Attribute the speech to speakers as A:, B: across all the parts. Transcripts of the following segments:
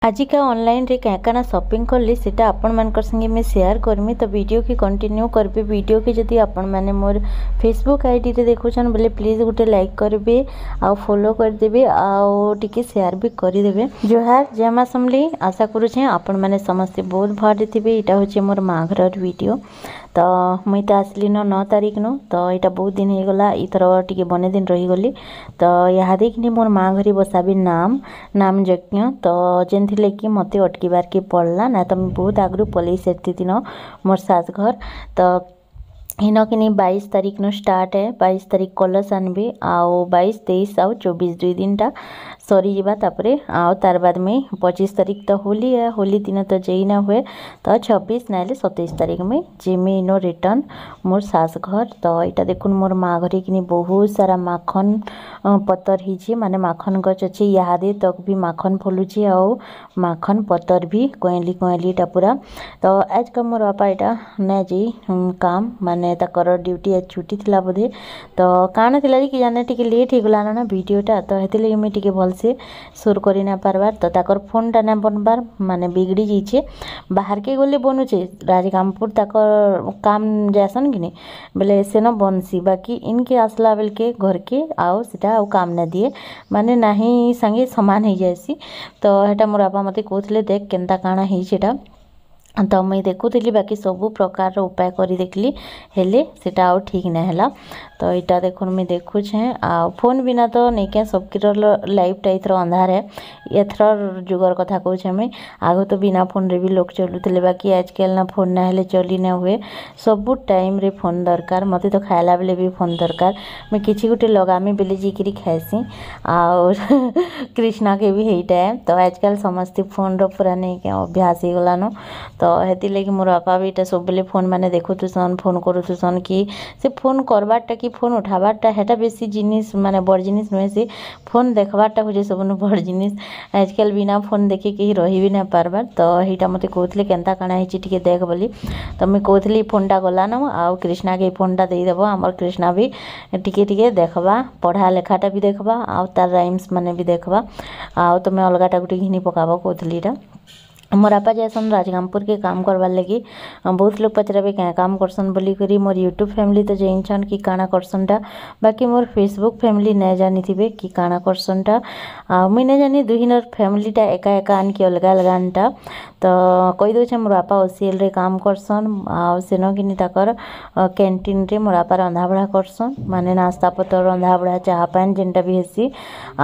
A: ଆଜିକା ଅନଲାଇନ୍ରେ କାଣା କାଣା ସପିଂ କଲି, ସେଟା ଆପଣମାନଙ୍କର ସାଙ୍ଗେ ମୁଇଁ ସେୟାର କରମି। ତ ଭିଡ଼ିଓକେ କଣ୍ଟିନ୍ୟୁ କରିବି। ଭିଡ଼ିଓକେ ଯଦି ଆପଣମାନେ ମୋର ଫେସବୁକ୍ ଆଇଡ଼ିରେ ଦେଖୁଛନ୍ ବୋଲେ ପ୍ଲିଜ୍ ଗୋଟେ ଲାଇକ୍ କରିବେ ଆଉ ଫଲୋ କରିଦେବେ ଆଉ ଟିକେ ସେୟାର ବି କରିଦେବେ। ଜୁହାର, ଜୟ ମା ସମଲେଇ। ଆଶା କରୁଛେଁ ଆପଣମାନେ ସମସ୍ତେ ବହୁତ ଭଲରେ ଥିବେ। ଏଇଟା ହେଉଛି ମୋର ମା ଘରର ଭିଡ଼ିଓ। ତ ମୁଇଁ ତ ଆସିଲି ନ 9 ତାରିଖ ନୁ, ତ ଏଇଟା ବହୁତ ଦିନ ହେଇଗଲା। ଏଇଥର ଟିକେ ବନେ ଦିନ ରହିଗଲି। ତ ଇହାଦେ କିନି ମୋର ମା ଘରେ ବସାବି ନାମ ନାମ ଯଜ୍ଞ, ତ ଯେନ୍ଥିର୍ କି ମୋତେ ଅଟକିବାର୍କେ ପଡ଼ଲା, ନା ତ ମୁଇଁ ବହୁତ ଆଗରୁ ପଲେଇ ସାରିଥିତିନ ମୋର୍ ଶାଶ ଘର। ତ ଇନ କିନି 22 ତାରିଖ ନୁ ଷ୍ଟାର୍ଟ ହେ। 22 ତାରିଖ କଲଶ ଆନବି ଆଉ 22, 23 ଆଉ 24, 2 ଦିନଟା ସରିଯିବା। ତାପରେ ଆଉ ତାର ବାଦ ମୁଇଁ 25 ତାରିଖ ତ ହୋଲି ହେ, ହୋଲି ଦିନ ତ ଯେଇ ନା ହୁଏ। ତ 26 ନାଇଲେ 27 ତାରିଖ ମୁଇଁ ଯିମି ଇନୁ ରିଟର୍ନ ମୋର୍ ଶାଶ ଘର। ତ ଏଇଟା ଦେଖୁନ୍, ମୋର୍ ମା ଘରେ କିନି ବହୁତ ସାରା ମାଖନ ପତର ହେଇଛି, ମାନେ ମାଖନ ଗଛ ଅଛି। ଇହାଦେ ତକ୍ ବି ମାଖନ ଫଲୁଛି ଆଉ ମାଖନ ପତର ବି କଏଁଲି କଏଁଲିଟା ପୁରା। ତ ଆଜକା ମୋର୍ ବାପା ଏଇଟା ନାଇଁ ଯାଇ କାମ, ମାନେ ତାଙ୍କର ଡ୍ୟୁଟି ଆଜ ଛୁଟି ଥିଲା ବୋଧେ, ତ କାଣା ଥିଲା ଯେ କି ଜାନେ, ଟିକେ ଲେଟ୍ ହେଇଗଲା ନା ଭିଡ଼ିଓଟା, ତ ହେଥିଲାଗି ମୁଇଁ ଟିକେ ଭଲସେ ସୁର କରି ନା ପାରବାର୍। ତ ତାଙ୍କର ଫୋନ୍ଟା ନା ବନବାର୍, ମାନେ ବିଗଡ଼ି ଯାଇଛେ। ବାହାରକେ ଗଲେ ବନୁଛେ, ରାଜଗାଙ୍ଗପୁର ତାକର କାମ ଯାଏସନ୍ କିନି ବେଲେ ସେନ ବନସି, ବାକି ଇନକେ ଆସଲା ବେଲକେ ଘରକେ ଆଉ ସେଟା ଆଉ କାମ ନା ଦିଏ, ମାନେ ନାହିଁ ସାଙ୍ଗେ ସମାନ ହେଇଯାଏସି। ତ ହେଟା ମୋର୍ ବାପା ମୋତେ କହୁଥିଲେ, ଦେଖ କେନ୍ତା କାଣା ହେଇଛେ ଏଟା। ତ ମୁଇଁ ଦେଖୁଥିଲି, ବାକି ସବୁ ପ୍ରକାରର ଉପାୟ କରି ଦେଖିଲି, ହେଲେ ସେଟା ଆଉ ଠିକ୍ ନାଇଁ ହେଲା। ତ ଏଇଟା ଦେଖୁନ୍, ମୁଇଁ ଦେଖୁଛେଁ। ଆଉ ଫୋନ୍ ବିନା ତ ନେଇକେ ସବକିର ଲାଇଫ୍ଟା ଏଥର ଅନ୍ଧାର ହେ। ଏଥର ଯୁଗର କଥା କହୁଛେଁ ମୁଇଁ। ଆଗ ତ ବିନା ଫୋନ୍ରେ ବି ଲୋକ ଚଲୁଥିଲେ, ବାକି ଆଜକାଲ ନା ଫୋନ୍ ନା ହେଲେ ଚଲି ନା ହୁଏ। ସବୁ ଟାଇମ୍ରେ ଫୋନ୍ ଦରକାର। ମୋତେ ତ ଖାଇଲା ବେଲେ ବି ଫୋନ୍ ଦରକାର। ମୁଇଁ କିଛି ଗୋଟେ ଲଗାମି ବେଲେ ଯାଇକିରି ଖାଏସି, ଆଉ କୃଷ୍ଣାକେ ବି ହେଇଟା। ତ ଆଜକାଲ ସମସ୍ତେ ଫୋନ୍ର ପୁରା ନେଇକେ ଅଭ୍ୟାସ ହେଇଗଲାନ। ତ ହେଥିର୍ଲାଗି ମୋର୍ ବାପା ବି ଇଟା ସବୁବେଲେ ଫୋନ୍ ମାନେ ଦେଖୁଥିସନ୍, ଫୋନ୍ କରୁଥିସନ୍। କି ସେ ଫୋନ୍ କରବାର୍ଟା କି ଫୋନ୍ ଉଠାବାର୍ଟା, ହେଟା ବେଶୀ ଜିନିଷ୍ ମାନେ ବଡ଼୍ ଜିନିଷ୍ ନୁହେଁ, ସେ ଫୋନ୍ ଦେଖବାର୍ଟା ହଉଛେ ସବୁନୁ ବଡ଼୍ ଜିନିଷ୍। ଆଜକାଲ ବିନା ଫୋନ୍ ଦେଖି କେହି ରହି ବି ନାଇଁ ପାରବାର୍। ତ ହେଇଟା ମୋତେ କହୁଥିଲେ, କେନ୍ତା କାଣା ହେଇଛି ଟିକେ ଦେଖ ବୋଲି। ତ ମୁଇଁ କହୁଥିଲି, ଫୋନ୍ଟା ଗଲାନ ଆଉ କୃଷ୍ଣାକେ ଏଇ ଫୋନ୍ଟା ଦେଇଦେବ। ଆମର୍ କୃଷ୍ଣା ବି ଟିକେ ଟିକେ ଦେଖବା, ପଢ଼ା ଲେଖାଟା ବି ଦେଖବା ଆଉ ତାର୍ ରାଇମ୍ସ ମାନେ ବି ଦେଖବା, ଆଉ ତମେ ଅଲଗାଟା ଗୁଟେ ଘିନି ପକାବ କହୁଥିଲି। ଏଇଟା ମୋର୍ ବାପା ଯାଏସନ୍ ରାଜଗାଙ୍ଗପୁରକେ କାମ କରବାର୍ ଲାଗି। ବହୁତ ଲୋକ ପଚରାବେ କାଁ କାମ କରସନ୍ ବୋଲିକରି। ମୋର୍ ୟୁଟ୍ୟୁବ୍ ଫ୍ୟାମିଲି ତ ଜାନିଛନ୍ କି କାଣା କରସନ୍ଟା, ବାକି ମୋର୍ ଫେସବୁକ୍ ଫ୍ୟାମିଲି ନାଇଁ ଜାନିଥିବେ କି କାଣା କରସନ୍ଟା। ଆଉ ମୁଇଁ ନାଇଁ ଜାନି ଦୁହିନର୍ ଫ୍ୟାମିଲିଟା ଏକା ଏକା ଆନ୍ କି ଅଲଗା ଅଲଗା ଆନ୍ଟା। ତ କହିଦଉଛେଁ, ମୋର୍ ବାପା ଓସିଏଲ୍ରେ କାମ କରସନ୍ ଆଉ ସେନ କିନି ତାକର୍ କ୍ୟାଣ୍ଟିନ୍ରେ ମୋର୍ ବାପା ରନ୍ଧାବଢ଼ା କରସନ୍, ମାନେ ନାସ୍ତା ପତର, ରନ୍ଧାବଢ଼ା, ଚାହା ପାନ୍ ଯେନ୍ଟା ବି ହେସି।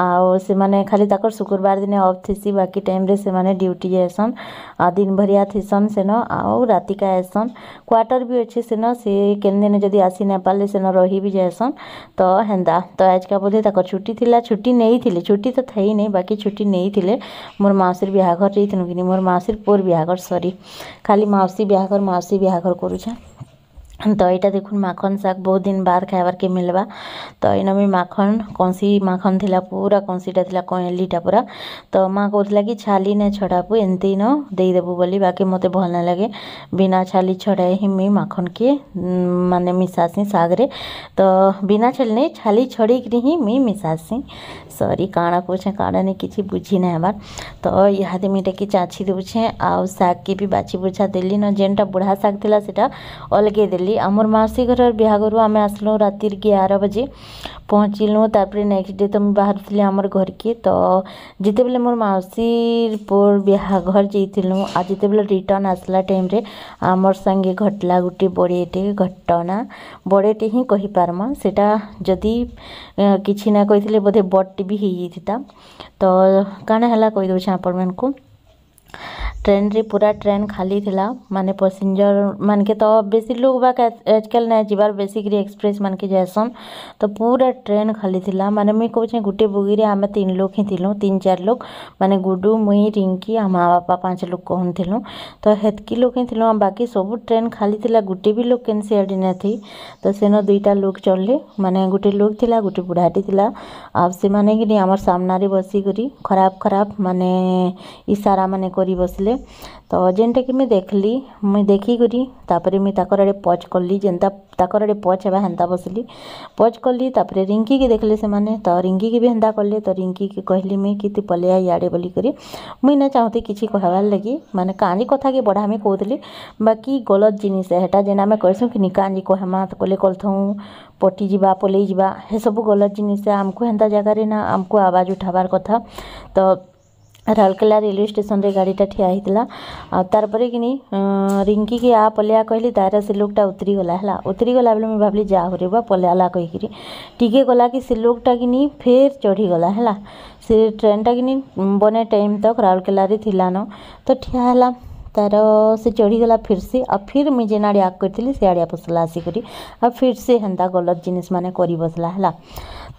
A: ଆଉ ସେମାନେ ଖାଲି ତାକର୍ ଶୁକ୍ରବାର ଦିନେ ଅଫ୍ ଥିସି, ବାକି ଟାଇମ୍ରେ ସେମାନେ ଡ୍ୟୁଟି ଯାଏସନ୍ ଆଉ ଦିନ ଭରିଆ ଥିସନ୍ ସେନ ଆଉ ରାତିକା ଆଏସନ୍। କ୍ୱାର୍ଟର୍ ବି ଅଛି ସେନ, ସେ କେନ୍ ଦିନେ ଯଦି ଆସି ନାଇଁ ପାରିଲେ ସେନ ରହି ବି ଯାଏସନ୍। ତ ହେନ୍ତା। ତ ଆଜକା ବୋଧେ ତାକର୍ ଛୁଟି ଥିଲା, ଛୁଟି ନେଇଥିଲେ, ଛୁଟି ତ ଥାଇ ନାଇଁ, ବାକି ଛୁଟି ନେଇଥିଲେ। ମୋର୍ ମାଉସୀର ବିହାଘର ଯାଇଥିନୁ କିନି, ମୋର୍ ମାଉସୀର ପୁଅର୍ ବିହାଘର, ସରି, ଖାଲି ମାଉସୀ ବିହାଘର ମାଉସୀ ବିହାଘର କରୁଛେଁ। ତ ଏଇଟା ଦେଖୁନ୍, ମାଖନ୍ ଶାଗ ବହୁତ ଦିନ ବାଦ ଖାଇବାର୍କେ ମିଲ୍ବା। ତ ଏଇନ ମୁଇଁ ମାଖନ୍, କଂସି ମାଖନ୍ ଥିଲା, ପୁରା କଂସିଟା ଥିଲା, କଏଁଲିଟା ପୁରା। ତ ମା କହୁଥିଲା କି ଛାଲି ନାଇଁ ଛଡ଼ାବୁ, ଏମିତି ନ ଦେଇଦେବୁ ବୋଲି, ବାକି ମୋତେ ଭଲ ନାଇଁ ଲାଗେ। ବିନା ଛାଲି ଛଡ଼ାଏ ହିଁ ମୁଇଁ ମାଖନ୍କେ ମାନେ ମିଶାସି ଶାଗ୍ରେ। ତ ବିନା ଛାଲି ନାଇଁ, ଛାଲି ଛଡ଼େଇକିରି ହିଁ ମୁଇଁ ମିଶାସି। ସରି, କାଣା କହୁଛେଁ କାଣା ନାଇଁ କିଛି ବୁଝି ନାଇଁ ହେବାର୍। ତ ଇହାଦେ ମୁଇଁ ଏଟାକେ ଚାଛି ଦଉଛେଁ ଆଉ ଶାଗ୍କେ ବି ବାଛି ବୁଛା ଦେଲି ନ। ଯେନ୍ଟା ବୁଢ଼ା ଶାଗ୍ ଥିଲା ସେଟା ଅଲଗେଇ ଦେଲି। ଆମର୍ ମାଉସୀ ଘରର୍ ବିହାଘରୁ ଆମେ ଆସିଲୁ ରାତିର୍ 11 ବଜେ ପହଞ୍ଚିଲୁ। ତାପରେ ନେକ୍ସଟ ଡେ ତ ମୁଇଁ ବାହାରିଥିଲି ଆମର୍ ଘରକେ। ତ ଯେତେବେଲେ ମୋର୍ ମାଉସୀର୍ ପୁଅର୍ ବିହାଘର ଯାଇଥିଲୁ ଆଉ ଯେତେବେଲେ ରିଟର୍ନ ଆସିଲା ଟାଇମ୍ରେ ଆମର୍ ସାଙ୍ଗେ ଘଟଲା ଗୁଟେ ବଡ଼େଟେ ଘଟଣା। ବଡ଼େଟେ ହିଁ କହିପାର୍ମା ସେଟା, ଯଦି କିଛି ନା କହିଥିଲେ ବୋଧେ ବଡ଼ଟେ ବି ହେଇଯାଇଥିତା। ତ କାଣା ହେଲା କହିଦଉଛେଁ ଆପଣମାନଙ୍କୁ। ଟ୍ରେନ୍ରେ ପୁରା ଟ୍ରେନ୍ ଖାଲି ଥିଲା, ମାନେ ପସେଞ୍ଜର ମାନକେ ତ ବେଶୀ ଲୋକ୍ ବାକ୍ ଆଜକାଲ୍ ନାଇଁ ଯିବାର୍, ବେଶୀକିରି ଏକ୍ସପ୍ରେସ୍ ମାନକେ ଯାଏସନ୍। ତ ପୁରା ଟ୍ରେନ୍ ଖାଲି ଥିଲା, ମାନେ ମୁଇଁ କହୁଛେଁ ଗୁଟେ ବଗିରେ ଆମେ ତିନ୍ ଲୋକ୍ ହିଁ ଥିଲୁ, ତିନ୍ ଚାର୍ ଲୋକ୍, ମାନେ ଗୁଡୁ, ମୁଇଁ, ରିଙ୍କି ଆଉ ମା ବାପା, ପାଞ୍ଚ ଲୋକ୍ କହୁନ୍ ଥିଲୁ। ତ ହେତ୍କି ଲୋକ୍ ହିଁ ଥିଲୁ, ବାକି ସବୁ ଟ୍ରେନ୍ ଖାଲି ଥିଲା, ଗୁଟେ ବି ଲୋକ୍ କେନ୍ସି ଆଡ଼େ ନାଇଥାଇ। ତ ସେନ ଦୁଇଟା ଲୋକ୍ ଚଢ଼୍ଲେ, ମାନେ ଗୁଟେ ଲୋକ୍ ଥିଲା, ଗୁଟେ ବୁଢ଼ାଟେ ଥିଲା। ଆଉ ସେମାନେ କିନି ଆମର୍ ସାମ୍ନାରେ ବସିକରି ଖରାପ ଖରାପ ମାନେ ଇସାରା ମାନେ କରି ବସିଲେ। କରୁଥିଲେ। ତ ଯେନ୍ଟାକି ମୁଇଁ ଦେଖିଲି, ମୁଇଁ ଦେଖିକରି ତାପରେ ମୁଇଁ ତାକର ଆଡ଼େ ପଚ୍ କଲି, ଯେନ୍ତା ତାକର ଆଡ଼େ ପଚ୍ ହେବା ହେନ୍ତା ବସିଲି, ପଚ୍ କଲି। ତାପରେ ରିଙ୍କିକେ ଦେଖିଲେ ସେମାନେ, ତ ରିଙ୍କିକେ ବି ହେନ୍ତା କଲେ। ତ ରିଙ୍କିକେ କହିଲି ମୁଇଁ କି ତୁଇ ପଲେଇ ଆ ଇଆଡ଼େ ବୋଲିକରି। ମୁଇଁ ନାଇଁ ଚାହୁଁଥି କିଛି କହେବାର୍ ଲାଗି, ମାନେ କାଁଜି କଥାକେ ବଢ଼ାମି କହୁଥିଲି, ବାକି ଗଲତ୍ ଜିନିଷ୍ ଏ ହେଟା। ଯେନ୍ ଆମେ କହେସୁଁ କି ନି, କାଁଜି କହେମା ତ କଲେ କଲଥଉଁ ପଟିଯିବା, ପଲେଇ ଯିବା, ହେସବୁ ଗଲତ୍ ଜିନିଷ୍ ଏ। ଆମକୁ ହେନ୍ତା ଜାଗାରେ ନା ଆମକୁ ଆବାଜ ଉଠାବାର୍ କଥା। ତ ରାଉରକେଲା ରେଲୱେ ଷ୍ଟେସନରେ ଗାଡ଼ିଟା ଠିଆ ହେଇଥିଲା। ଆଉ ତାର୍ ପରେ କିନି ରିଙ୍କିକେ ଆ ପଲେଇଆ କହିଲି, ତାର ସେ ଲୋକଟା ଉତରିଗଲା ହେଲା। ଉତରିଗଲା ବେଲେ ମୁଇଁ ଭାବିଲି ଯା ହଉ ରେ ବା ପଲେଇଆଲା କହିକିରି। ଟିକେ ଗଲା କି ସେ ଲୋକଟା କିନି ଫେର୍ ଚଢ଼ିଗଲା ହେଲା। ସେ ଟ୍ରେନ୍ଟା କିନି ବନେ ଟାଇମ୍ ତକ୍ ରାଉରକେଲାରେ ଥିଲାନ, ତ ଠିଆ ହେଲା। ତାର ସେ ଚଢ଼ିଗଲା ଫିର୍ସି, ଆଉ ଫିର୍ ମୁଇଁ ଯେନ୍ ଆଡ଼େ ଆଗ୍ କରିଥିଲି ସିଆଡ଼େ ବସଲା ଆସିକରି, ଆଉ ଫିର୍ ସେ ହେନ୍ତା ଗଲତ୍ ଜିନିଷ୍ ମାନେ କରି ବସଲା ହେଲା।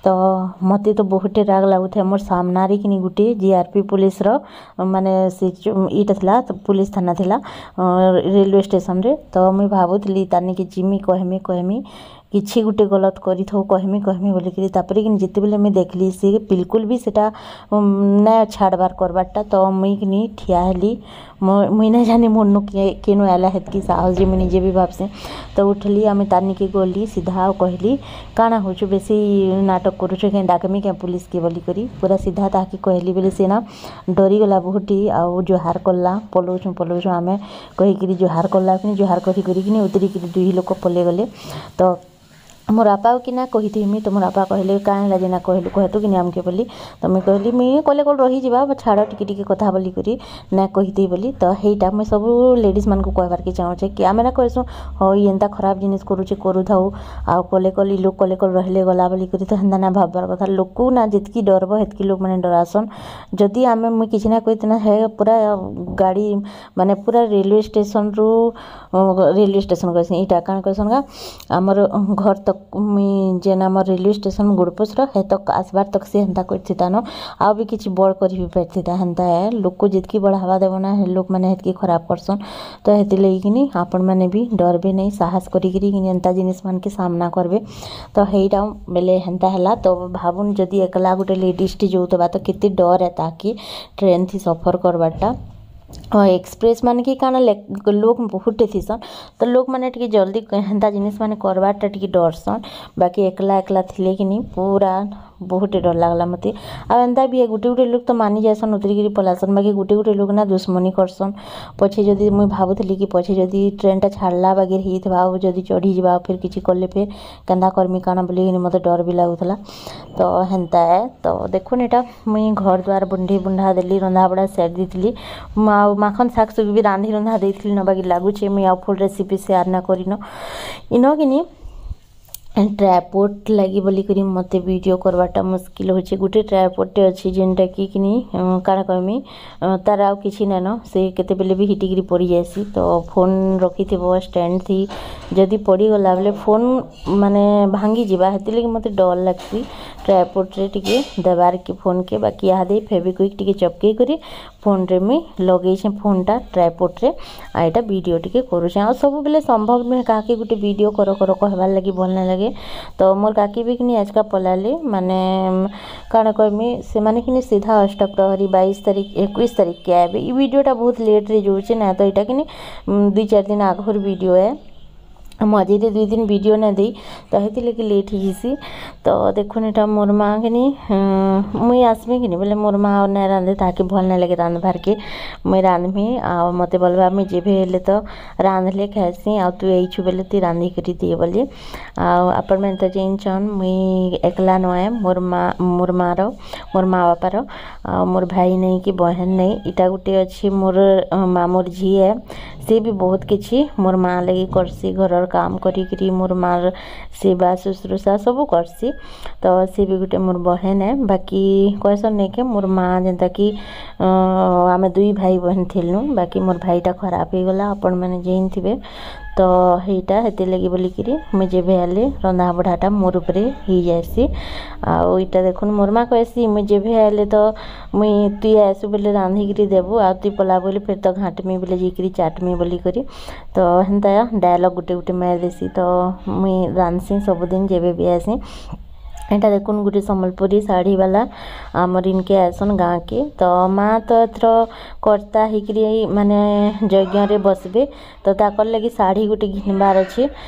A: ତ ମତେ ତ ବହୁତଟେ ରାଗ ଲାଗୁଥାଏ। ମୋର୍ ସାମ୍ନାରେ କିନି ଗୁଟେ ଜିଆର୍ପି ପୋଲିସ୍ର ମାନେ ସେ ଇଟା ଥିଲା, ପୋଲିସ୍ ଥାନା ଥିଲା ରେଲୱେ ଷ୍ଟେସନ୍ରେ। ତ ମୁଇଁ ଭାବୁଥିଲି ତାନିକେ ଯିମି, କହେମି କହେମି, କିଛି ଗୁଟେ ଗଲତ୍ କରିଥାଉ, କହେମି କହେମି ବୋଲିକିରି। ତାପରେ କିନି ଯେତେବେଲେ ମୁଇଁ ଦେଖିଲି ସେ ବିଲକୁଲ୍ ବି ସେଟା ନାଇଁ ଛାଡ଼ବାର୍ କରବାର୍ଟା, ତ ମୁଇଁ କିନି ଠିଆ ହେଲି। ମୁଇଁ ନାଇଁ ଜାନି ମୋର୍ନୁ କେନୁ ଆଇଲା ହେତ୍କି ସାହସ୍ ଯେ ମୁଇଁ ନିଜେ ବି ଭାବ୍ସି। ତ ଉଠଲି, ଆମେ ତାର୍ ନିକେ ଗଲି ସିଧା ଆଉ କହିଲି, କାଣା ହଉଛୁ, ବେଶୀ ନାଟକ କରୁଛୁ କେଁ, ଡାକ୍ମି କେଁ ପୋଲିସ୍କେ ବୋଲିକରି ପୁରା ସିଧା ତାହାକେ କହିଲି। ବେଲେ ସେ ନା ଡରିଗଲା ବହୁତଟି ଆଉ ଜୁହାର କଲା, ପଲଉଛୁଁ ପଲଉଛୁଁ ଆମେ କହିକିରି ଜୁହାର କଲା କିନି, ଜୁହାର କରି କରିକିନି ଉତରିକିରି ଦୁଇ ଲୋକ ପଲେଇଗଲେ। ତ ମୋର୍ ବାପା କିନା କହିଥିମି, ତ ମୋର୍ ବାପା କହିଲେ, କାଁ ହେଲା ଯେ ନା କହିଲୁ, କହେତୁ କିନି ଆମ୍କେ ବୋଲି। ତ ମୁଇଁ କହିଲି, ମୁଇଁ କଲେ କଲ୍ ରହିଯିବା, ଛାଡ଼ ଟିକେ ଟିକେ କଥା ବୋଲିକରି ନାଇଁ କହିଥି ବୋଲି। ତ ହେଇଟା ମୁଇଁ ସବୁ ଲେଡ଼ିଜ୍ମାନଙ୍କୁ କହେବାର୍କେ ଚାହୁଁଛେ କି ଆମେ ନା କହେସୁଁ, ହଁ ଇ ଏନ୍ତା ଖରାପ୍ ଜିନିଷ୍ କରୁଛେ କରୁଥାଉ, ଆଉ କଲେ କଲ୍ ଇ ଲୋକ୍ କଲେ କଲ୍ ରହିଲେ ଗଲା ବୋଲିକରି। ତ ହେନ୍ତା ନାଇଁ ଭାବ୍ବାର୍ କଥା। ଲୋକ୍କୁ ନା ଯେତ୍କି ଡର୍ବ ହେତ୍କି ଲୋକ୍ମାନେ ଡରାସନ୍। ଯଦି ଆମେ ମୁଇଁ କିଛି ନାଇଁ କହିଥିନା, ହେ ପୁରା ଗାଡ଼ି ମାନେ ପୁରା ରେଲୱେ ଷ୍ଟେସନ୍ରୁ, ରେଲୱେ ଷ୍ଟେସନ୍ କହେସି, ଇଟା କାଣା କହେସନ୍ ଗା, ଆମର୍ ଘର୍ ତକ୍, ମୁଇଁ ଯେନ୍ ଆମର୍ ରେଲୱେ ଷ୍ଟେସନ୍ ଗୁଡ଼ପୁସ୍ର ହେ ତକ୍ ଆସ୍ବାର୍ ତକ୍ ସେ ହେନ୍ତା କରିଥିତାନ, ଆଉ ବି କିଛି ବଡ଼୍ କରି ବି ପାରିଥିତା। ହେନ୍ତା ଏ, ଲୋକ୍କୁ ଯେତ୍କି ବଢ଼ାବା ଦେବ ନା, ହେ ଲୋକ୍ମାନେ ହେତ୍କି ଖରାପ୍ କର୍ସନ୍। ତ ହେଥିର୍ଲାଗି କିନି ଆପଣମାନେ ବି ଡର୍ବେ ନାଇଁ, ସାହସ୍ କରିକିରି କିନି ଏନ୍ତା ଜିନିଷ୍ମାନ୍କେ ସାମ୍ନା କର୍ବେ। ତ ହେଇଟା ବେଲେ ହେନ୍ତା ହେଲା। ତ ଭାବୁନ୍, ଯଦି ଏକ୍ଲା ଗୁଟେ ଲେଡ଼ିଜ୍ଟେ ଯାଉଥିବା ତ କେତେ ଡର୍ ଏ ତାହାକେ ଟ୍ରେନ୍ଥି ସଫର୍ କର୍ବାର୍ଟା। ଏକ୍ସପ୍ରେସ୍ ମାନେ କି କାଣା ଲୋକ୍ ବହୁତ୍ଟେ ଥିସନ୍, ତ ଲୋକ୍ମାନେ ଟିକେ ଜଲ୍ଦି ହେନ୍ତା ଜିନିଷ୍ ମାନେ କର୍ବାର୍ଟା ଟିକେ ଡର୍ସନ୍। ବାକି ଏକ୍ଲା ଏକ୍ଲା ଥିଲେ କିନି ପୁରା ବହୁତ୍ଟେ ଡର୍ ଲାଗ୍ଲା ମତେ। ଆଉ ଏନ୍ତା ବି ଗୁଟେ ଗୁଟେ ଲୋକ୍ ତ ମାନି ଯାଏସନ୍, ଉତରିକିରି ପଲାସନ୍, ବାକି ଗୁଟେ ଗୁଟେ ଲୋକ୍ ନା ଦୁଶ୍ମନୀ କର୍ସନ୍। ପଛେ ଯଦି ମୁଇଁ ଭାବୁଥିଲି କି ପଛେ ଯଦି ଟ୍ରେନ୍ଟା ଛାଡ଼ଲା ବାଗିର୍ ହେଇଥିବା ଆଉ ଯଦି ଚଢ଼ିଯିବା ଆଉ ଫେର୍ କିଛି କଲେ ଫେର୍ କେନ୍ତା କର୍ମି କାଣା ବୋଲିକିନି ମତେ ଡର୍ ବି ଲାଗୁଥିଲା। ତ ହେନ୍ତା ଏ। ତ ଦେଖୁନ୍, ଏଇଟା ମୁଇଁ ଘର୍ ଦ୍ୱାର ବୁଣ୍ଢି ବୁଣ୍ଢା ଦେଲି, ରନ୍ଧାବଢ଼ା ସାରି ଦେଇଥିଲି ଆଉ ମାଖନ୍ ଶାଗ୍ ସୁଗ୍ ବି ରାନ୍ଧି ରୁନ୍ଧା ଦେଇଥିଲି ନ। ବାକି ଲାଗୁଛେ ମୁଇଁ ଆଉ ଫୁଲ୍ ରେସିପି ସେୟାର୍ ନା କରିନ। ଇନ କିନି ଟ୍ରାଇପୋଡ୍ ଲାଗି ବୋଲିକରି ମତେ ଭିଡ଼ିଓ କର୍ବାର୍ଟା ମୁସ୍କିଲ୍ ହଉଛେ। ଗୁଟେ ଟ୍ରାଇପୋଡ୍ଟେ ଅଛି ଯେନ୍ଟାକି କିନି କାଣା କହେମି, ତାର୍ ଆଉ କିଛି ନାଇଁନ, ସେ କେତେବେଲେ ବି ହିଟିକିରି ପଡ଼ିଯାଏସି। ତ ଫୋନ୍ ରଖିଥିବ ଷ୍ଟାଣ୍ଡ ଥି, ଯଦି ପଡ଼ିଗଲା ବେଲେ ଫୋନ୍ ମାନେ ଭାଙ୍ଗିଯିବା। ହେଥିର୍ଲାଗି ମତେ ଡର୍ ଲାଗ୍ସି ଟ୍ରାଇପୋଡ୍ରେ ଟିକେ ଦେବାର୍କେ ଫୋନ୍କେ। ବାକି ଇହାଦେ ଫେଭିକ୍ୱିକ୍ ଟିକେ ଚପକେଇ କରି ଫୋନ୍ରେ ମୁଇଁ ଲଗେଇଛେଁ ଫୋନ୍ଟା ଟ୍ରାଇପୋଡ୍ରେ, ଆଉ ଏଇଟା ଭିଡ଼ିଓ ଟିକେ କରୁଛେଁ। ଆଉ ସବୁବେଲେ ସମ୍ଭବ ନୁହେଁ କାହାକେ ଗୁଟେ ଭିଡ଼ିଓ କର କର କହେବାର୍ ଲାଗି, ଭଲ୍ ନାଇଁ ଲାଗେ। ତ ମୋର୍ କାକି ବି କିନି ଆଜକା ପଲାଲେ, ମାନେ କାଣା କହେମି, ସେମାନେ କିନି ସିଧା ଅଷ୍ଟପ୍ରହରୀ 22 ତାରିଖ 21 ତାରିଖକେ ଆଇବେ। ଇ ଭିଡ଼ିଓଟା ବହୁତ ଲେଟ୍ରେ ଯାଉଛେ ନା, ତ ଏଇଟା କିନି 2-4 ଦିନ ଆଘର ଭିଡ଼ିଓ ଏ। ମଝିରେ 2 ଦିନ ଭିଡ଼ିଓ ନାଇଁ ଦେଇ, ତ ହେଥିର୍ଲାଗି ଲେଟ୍ ହେଇଯାଇସି। ତ ଦେଖୁନ୍, ଏଇଟା ମୋର୍ ମା କିନି, ମୁଇଁ ଆସ୍ମି କିନି ବେଲେ ମୋର୍ ମା ଆଉ ନାଇଁ ରାନ୍ଧେ, ତାହାକେ ଭଲ୍ ନାଇଁ ଲାଗେ ରାନ୍ଧବାର୍କେ। ମୁଇଁ ରାନ୍ଧ୍ମି ଆଉ ମତେ ବଲବା, ମୁଇଁ ଯେଭେ ହେଲେ ତ ରାନ୍ଧ୍ଲେ ଖାଏସି, ଆଉ ତୁଇ ଆଇଛୁ ବେଲେ ତୁଇ ରାନ୍ଧିକରି ଦେ ବୋଲି। ଆଉ ଆପଣମାନେ ତ ଜାନିଛନ୍, ମୁଇଁ ଏକ୍ଲା ନୁହେଁ, ମୋର୍ ମା, ମୋର୍ ମାର, ମୋର୍ ମା ବାପାର ଆଉ ମୋର୍ ଭାଇ ନାଇଁ କି ବହେନ୍ ନାଇଁ। ଇଟା ଗୁଟେ ଅଛି ମୋର୍ ମାମୁର୍ ଝି ଏ, ସେ ବି ବହୁତ କିଛି ମୋର୍ ମା ଲାଗି କର୍ସି, ଘରର୍ କାମ୍ କରିକିରି ମୋର୍ ମାର୍ ସେବା ଶୁଶ୍ରୂଷା ସବୁ କର୍ସି। ତ ସେ ବି ଗୁଟେ ମୋର୍ ବହେନ୍ ଏ। ବାକି କହେସନ୍ ନାଇଁ କି, ମୋର୍ ମା ଯେନ୍ତା କି ଆମେ ଦୁଇ ଭାଇ ବହେନ୍ ଥିଲୁଁ, ବାକି ମୋର୍ ଭାଇଟା ଖରାପ୍ ହେଇଗଲା, ଆପଣମାନେ ଜାନିଥିବେ। ତ ହେଇଟା ହେଥିର୍ଲାଗି ବୋଲିକିରି ମୁଇଁ ଯେଭେ ଆଏଲେ ରନ୍ଧା ବଢ଼ାଟା ମୋର୍ ଉପରେ ହେଇଯାଏସି। ଆଉ ଇଟା ଦେଖୁନ୍, ମୋର୍ ମା କହେସି, ମୁଇଁ ଯେଭେ ଆଏଲେ ତ ମୁଇଁ ତୁଇ ଆଏସୁ ବେଲେ ରାନ୍ଧିକିରି ଦେବୁ, ଆଉ ତୁଇ ପଲାବୁ ବେଲେ ଫେର୍ ତ ଘାଣ୍ଟମି ବେଲେ ଯାଇକିରି ଚାଟ୍ମି ବୋଲିକରି। ତ ହେନ୍ତା ଡାୟଲଗ୍ ଗୁଟେ ଗୁଟେ ମାରିଦେସି। ତ ମୁଇଁ ରାନ୍ଧ୍ସି ସବୁଦିନ ଯେବେ ବି ଆଏସି। ଏଇଟା ଦେଖୁନ୍, ଗୋଟେ ସମ୍ବଲପୁରୀ ଶାଢ଼ୀ ବାଲା ଆମର ଇନକେ ଆସନ୍ ଗାଁକେ। ତ ମା ତ ଏଥର କର୍ତ୍ତା ହେଇକିରି ମାନେ ଯଜ୍ଞରେ ବସବେ, ତ ତାକର୍ ଲାଗି ଶାଢ଼ୀ ଗୋଟେ ଘିନବାର୍ ଅଛି।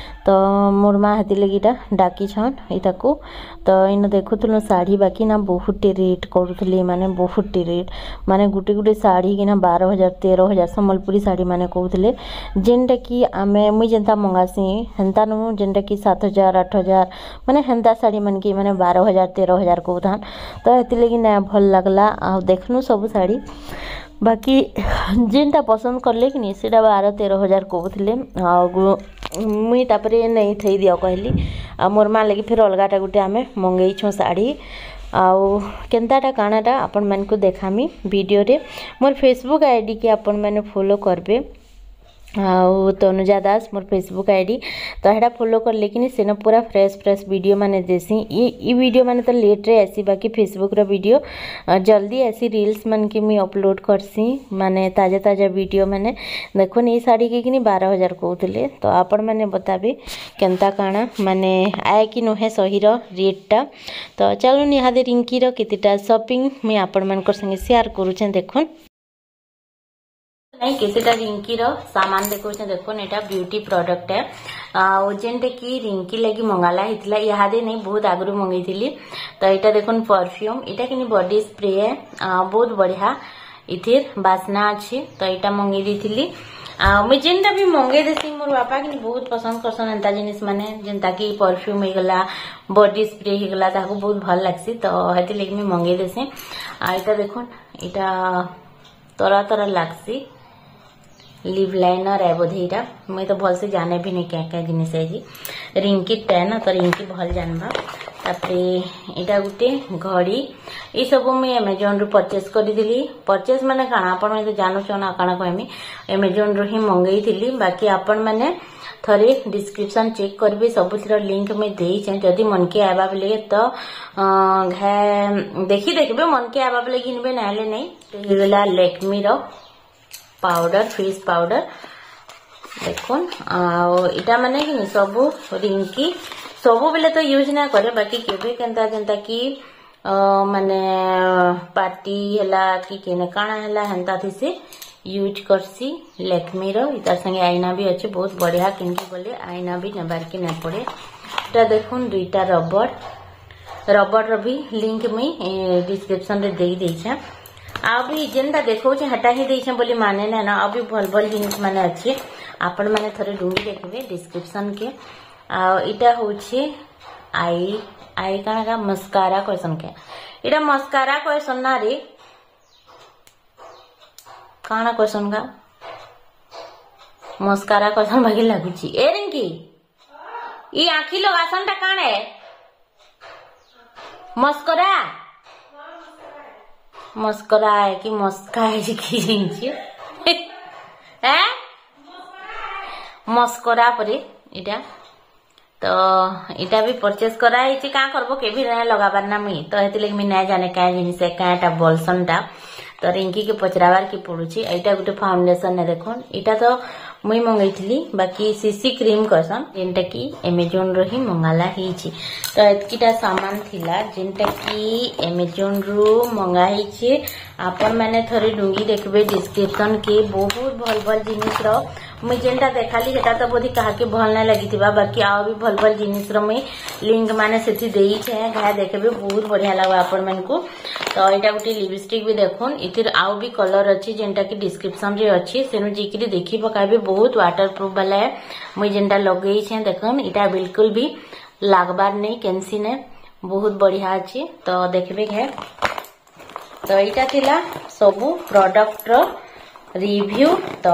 A: ତ ମୋର୍ ମା ହେଥିର୍ ଏଇଟା ଡାକିଛନ୍ ଏଇଟାକୁ। ତ ଇନ ଦେଖୁଥିଲୁ ଶାଢ଼ୀ, ବାକି ନା ବହୁତଟେ ରେଟ୍ କରୁଥିଲେ। ମାନେ ବହୁତଟେ ରେଟ୍, ମାନେ ଗୁଟେ ଗୁଟେ ଶାଢ଼ୀ କିନା 12,000, 13,000 ସମ୍ବଲପୁରୀ ଶାଢ଼ୀ ମାନେ କହୁଥିଲେ। ଯେନ୍ଟା କି ଆମେ ମୁଇଁ ଯେନ୍ତା ମଗାସି ହେନ୍ତା ନୁ, ଯେନ୍ଟା କି 7,000, 8,000, ମାନେ ହେନ୍ତା ଶାଢ଼ୀ ମାନକେ ମାନେ 12,000, 13,000 କହୁଥାନ୍। ତ ହେଥିର୍ଲାଗି ନାଇଁ ଭଲ୍ ଲାଗ୍ଲା। ଆଉ ଦେଖନୁ ସବୁ ଶାଢ଼ୀ, ବାକି ଯେନ୍ଟା ପସନ୍ଦ କଲେ କି ନି ସେଟା 12-13 ହଜାର କହୁଥିଲେ। ଆଉ ମୁଇଁ ତାପରେ ନେଇ ଥେଇ ଦିଅ କହିଲି। ଆଉ ମୋର୍ ମା ଲାଗି ଫେର୍ ଅଲଗାଟା ଗୁଟେ ଆମେ ମଙ୍ଗେଇଛୁଁ ଶାଢ଼ୀ। ଆଉ କେନ୍ତାଟା କାଣାଟା ଆପଣମାନଙ୍କୁ ଦେଖାମି ଭିଡ଼ିଓରେ। ମୋର୍ ଫେସବୁକ୍ ଆଇଡ଼ିକେ ଆପଣମାନେ ଫଲୋ କରବେ। ଆଉ ତନୁଜା ଦାସ ମୋର୍ ଫେସବୁକ୍ ଆଇଡ଼ି। ତ ହେଟା ଫଲୋ କଲେ କିନି ସେନ ପୁରା ଫ୍ରେଶ୍ ଫ୍ରେଶ୍ ଭିଡ଼ିଓ ମାନେ ଦେସି। ଇ ଭିଡ଼ିଓ ମାନେ ତ ଲେଟ୍ରେ ଆସି, ବାକି ଫେସବୁକ୍ର ଭିଡ଼ିଓ ଜଲ୍ଦି ଆସି। ରିଲ୍ସ ମାନକେ ମୁଇଁ ଅପଲୋଡ଼ କରସି, ମାନେ ତାଜା ତାଜା ଭିଡ଼ିଓ ମାନେ। ଦେଖୁନ୍, ଏଇ ଶାଢ଼ୀକେ କିନି 12,000 କହୁଥିଲେ। ତ ଆପଣମାନେ ବତାବେ କେନ୍ତା କାଣା ମାନେ ଆଏ କି ନୁହେଁ ସହିର ରେଟ୍ଟା। ତ ଚାଲୁନ୍, ଇହାଦେ ରିଙ୍କିର କେତେଟା ସପିଂ ମୁଇଁ ଆପଣମାନଙ୍କର ସାଙ୍ଗେ ସେୟାର କରୁଛେଁ, ଦେଖୁନ୍। ନାଇଁ, କେତେଟା ରିଙ୍କିର ସାମାନ ଦେଖଉଛେଁ, ଦେଖୁନ୍। ଏଇଟା ବ୍ୟୁଟି ପ୍ରଡକ୍ଟ ଆଉ ଯେନ୍ଟା କି ରିଙ୍କି ଲାଗି ମଙ୍ଗାଲା ହେଇଥିଲା। ଇହାଦେ ନାଇଁ, ବହୁତ ଆଗରୁ ମଙ୍ଗେଇଥିଲି। ତ ଏଇଟା ଦେଖୁନ୍ ପରଫ୍ୟୁମ୍, ଏଇଟା କିନି ବଡି ସ୍ପ୍ରେ, ବହୁତ ବଢିଆ ଇଥିର ବାସ୍ନା ଅଛି। ତ ଏଇଟା ମଙ୍ଗେଇ ଦେଇଥିଲି। ଆଉ ମୁଇଁ ଯେନ୍ଟା ବି ମଙ୍ଗେଇ ଦେସି, ମୋର ବାପା କିନି ବହୁତ ପସନ୍ଦ କରସନ୍ ଏନ୍ତା ଜିନିଷ ମାନେ, ଯେନ୍ତା କି ପରଫ୍ୟୁମ୍ ହେଇଗଲା, ବଡି ସ୍ପ୍ରେ ହେଇଗଲା, ତାକୁ ବହୁତ ଭଲ ଲାଗ୍ସି। ତ ହେଥିର୍ଲାଗି ମୁଇଁ ମଙ୍ଗେଇ ଦେସି। ଆଉ ଏଇଟା ଦେଖୁନ୍, ଏଇଟା ତରା ତରା ଲାଗ୍ସି, ଲିପ୍ ଲାଇନର ଏ ବୋଧେ ଏଇଟା। ମୁଇଁ ତ ଭଲସେ ଜାନେ ବି ନାଇଁ କେଁ କେଁ ଜିନିଷ ହେଇଛି। ରିଙ୍କିଟା ନା, ତ ରିଙ୍କି ଭଲ ଜାନବା। ତାପରେ ଏଇଟା ଗୋଟେ ଘଡ଼ି। ଏଇ ସବୁ ମୁଇଁ ଆମାଜନରୁ ପରଚେସ୍ କରିଥିଲି। ପରଚେସ୍ ମାନେ କାଣା, ଆପଣ ତ ଜାଣୁଛନ୍, ଆଉ କାଣା କହିମି। ଆମାଜନରୁ ହିଁ ମଙ୍ଗେଇଥିଲି। ବାକି ଆପଣ ମାନେ ଥରେ ଡିସ୍କ୍ରିପସନ୍ ଚେକ୍ କରିବେ, ସବୁଥିର ଲିଙ୍କ ମୁଇଁ ଦେଇଛେଁ। ଯଦି ମନକେ ଆଇବା ବେଲେ ତ ଘେ ଦେଖି ଦେଖିବେ, ମନକେ ଆଇବା ବେଲେ ଘିନବେ, ନାହେଲେ ନାଇଁ। ହେଇଗଲା ଲେକ୍ମିର ପାଉଡର, ଫେସ୍ ପାଉଡର ଦେଖୁନ୍। ଆଉ ଏଇଟା ମାନେ କି ସବୁ ରିଙ୍କି ସବୁବେଲେ ତ ୟୁଜ୍ ନା କରେ, ବାକି କେବେ କେନ୍ତା ଯେନ୍ତା କି ମାନେ ପାର୍ଟି ହେଲା କି କେନେ କାଣା ହେଲା, ହେନ୍ତା ଥିସି ୟୁଜ୍ କରସି ଲେକ୍ମିର। ତାର ସାଙ୍ଗେ ଆଇନା ବି ଅଛି, ବହୁତ ବଢିଆ। କିଣିକି ଗଲେ ଆଇନା ବି ନେବାର୍କେ ନାଇଁ ପଡେ। ଏଟା ଦେଖୁନ୍ ଦୁଇଟା ରବର। ରବରର ବି ଲିଙ୍କ ମୁଇଁ ଡିସ୍କ୍ରିପସନରେ ଦେଇ ଦେଇଛେଁ। ଆଉ ବି ଯେନ୍ଟା ଦେଖଉଛେ ହେଟା ହିଁ ଦେଇଛେଁ ବୋଲି ମାନେ ନାଇଁ ନା, ଆଉ ବି ଭଲ ଭଲ ଜିନିଷ ମାନେ ଅଛି। ଆପଣ ମାନେ ଥରେ ଡୁଙ୍ଗି ଦେଖିବେ ଡିସ୍କ୍ରିପସନ କେ। ଆଉ ଏଇଟା ହଉଛି I I କାଣା ମସ୍କାରା କହିସନ୍ କେ? ଏଇଟା ମସ୍କାରା କହିସନ୍ ନା ରେ କାଣା କହିସନ୍ ଗା? ମସ୍କାରା କହିସନ୍ ବାକି ଲାଗୁଛି। ଏ ରିଙ୍କି, ଇ ଆଖି ଲଗାସନ୍ ଟା କାଣା? ମସ୍କରା, ମସ୍କରା କି ମସ୍କା କି ଜିନିଷ ଏ ମସ୍କରା ପରେ ଏଇଟା। ତ ଏଇଟା ବି ପରଚେସ୍ କରାହେଇଛି। କାଁ କରବ, କେବେ ନାଇଁ ଲଗାବାର ନା ମୁଇଁ, ତ ହେଥିଲାଗି ମୁଇଁ ନାଇଁ ଜାନେ କାଁ ଜିନିଷ କାଁଟା ବଲସନ୍ ଟା। ତ ରିଙ୍କିକେ ପଚରାବାର କି ପଡୁଛି। ଏଇଟା ଗୋଟେ ଫାଉଣ୍ଡେସନ ଦେଖୁନ୍। ଏଇଟା ତ ମୁଇଁ ମଙ୍ଗେଇଥିଲି, ବାକି ସିସି କ୍ରିମ୍ କହିସନ୍, ଯେନ୍ଟା କି ଆମାଜନରୁ ହିଁ ମଙ୍ଗାଲା ହେଇଛି। ତ ଏତ୍କିଟା ସାମାନ ଥିଲା ଯେନ୍ଟା କି ଆମାଜନରୁ ମଙ୍ଗା ହେଇଛି। ଆପଣ ମାନେ ଥରେ ଡୁଙ୍ଗି ଦେଖିବେ ଡିସ୍କ୍ରିପସନ କେ, ବହୁତ ଭଲ ଭଲ ଜିନିଷର। ମୁଇଁ ଯେନ୍ଟା ଦେଖାଲି ସେଟା ତ ବୋଧେ କାହାକେ ଭଲ ନାଇଁ ଲାଗିଥିବା, ବାକି ଆଉ ବି ଭଲ ଭଲ ଜିନିଷର ମୁଇଁ ଲିଙ୍କ ମାନେ ସେଠି ଦେଇଛେ, ଘା ଦେଖିବେ, ବହୁତ ବଢିଆ ଲାଗବା ଆପଣ ମାନଙ୍କୁ। ତ ଏଇଟା ଗୋଟେ ଲିପଷ୍ଟିକ ବି ଦେଖୁନ୍। ଏଥିର ଆଉ ବି କଲର ଅଛି, ଯେନ୍ଟା କି ଡିସ୍କ୍ରିପସନ ରେ ଅଛି, ସେନୁ ଯାଇକିରି ଦେଖି ପକାବେ। ବହୁତ ୱାଟର ପ୍ରୁଫ ବାଲା ହେ। ମୁଇଁ ଯେନ୍ଟା ଲଗେଇଛେ ଦେଖୁନ୍, ଏଇଟା ବିଲକୁଲ ବି ଲାଗବାର ନେଇ କେନ୍ସି ନେ, ବହୁତ ବଢିଆ ଅଛି। ତ ଦେଖିବେ ଘେ। ତ ଏଇଟା ଥିଲା ସବୁ ପ୍ରଡକ୍ଟର ରିଭ୍ୟୁ। ତ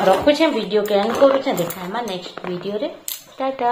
A: ରଖୁଛେ, ଭିଡ଼ିଓ କେ ଏଣ୍ଡ କରୁଛେ। ଦେଖାହେମା ନେକ୍ସଟ ଭିଡ଼ିଓରେ। ଟାଟା।